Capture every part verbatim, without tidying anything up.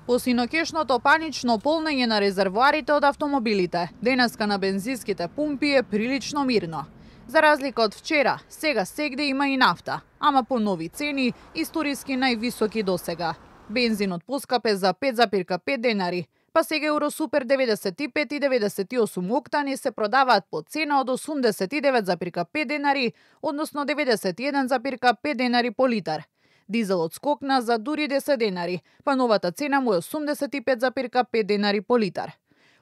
Посинокешното панично полнење на резервоарите од автомобилите, денеска на бензинските пумпи е прилично мирно. За разлика од вчера, сега сегде има и нафта, ама по нови цени, историски највисоки досега. Бензинот поскапе за пет зарем пет денари, па сега Евросупер деветдесет и пет и деветдесет и осум октани се продаваат по цена од осумдесет и девет зарем пет денари, односно деветдесет и еден зарем пет денари по литар. Дизелот скокна за дури десет денари, па новата цена му е осумдесет и пет зарем пет денари по литар.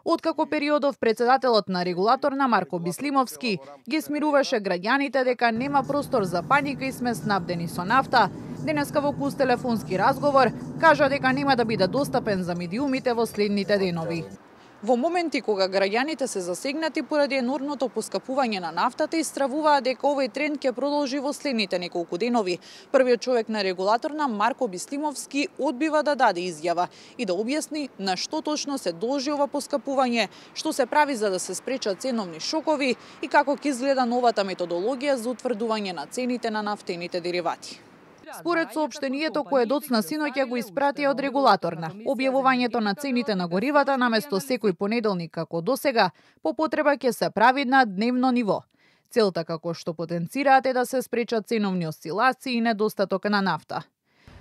Откако периодов председателот на регулаторна Марко Бислимовски ги смируваше граѓаните дека нема простор за паника и сме снабдени со нафта, денеска во куст телефонски разговор кажа дека нема да биде достапен за медиумите во следните денови. Во моменти кога граѓаните се засегнати поради енормното поскапување на нафтата, истравуваат дека овој тренд ќе продолжи во следните неколку денови. Првиот човек на регулаторна Марко Бислимовски одбива да даде изјава и да објасни на што точно се должи ова поскапување, што се прави за да се спречат ценовни шокови и како ќе изгледа новата методологија за утврдување на цените на нафтените деривати. Според соопштението кое доцна синоќа го испратија од регулаторна, објавувањето на цените на горивата наместо секој понеделник како досега, по потреба ќе се прави на дневно ниво. Целта, како што потенцираат, е да се спречат ценовни осцилации и недостаток на нафта.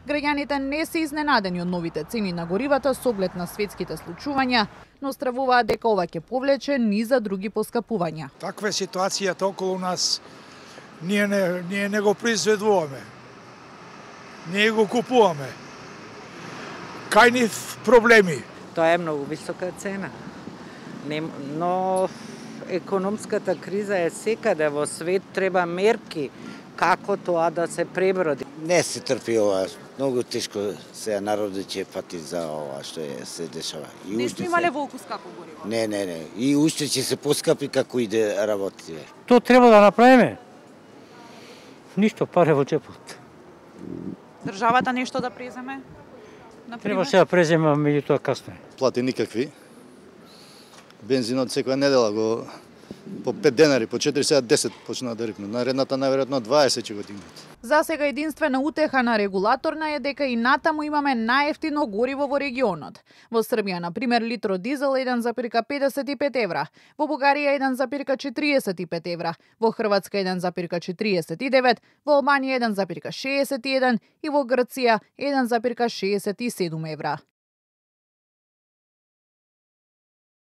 Граѓаните не се изненадени од новите цени на горивата со оглед на светските случувања, но стравуваат дека ова ќе повлече низ за други поскапувања. Таква е ситуацијата околу нас. Ние не, ние не го произведуваме. Ние го купуваме. Кај нив проблеми? Тоа е многу висока цена. Не, но економската криза е секаде во свет, треба мерки како тоа да се преброди. Не се трпи ова, многу тешко се народот ќе пати за ова што е се дешава. И не сме имале волку скапо гориво? Не, не, не. И уште ќе се поскапи како иде работи. Тоа треба да направиме. Ништо паре во џепот. Државата нешто да преземе? Требаше да преземе, меѓутоа касно е. Плати никакви. Бензинот секоја недела го по пет денари, по четири, сега десет почнаа да рипнат. Наредната најверојатно дваесет ќе го дигнат. За сега единствена утеха на регулаторна е дека и натаму имаме најевтино гориво во регионот. Во Србија, на пример, литро дизел еден зарем педесет и пет евра, во Бугарија еден зарем четириесет и пет евра, во Хрватска еден зарем четириесет и девет, во Албанија еден зарем шеесет и еден и во Грција еден зарем шеесет и седум евра.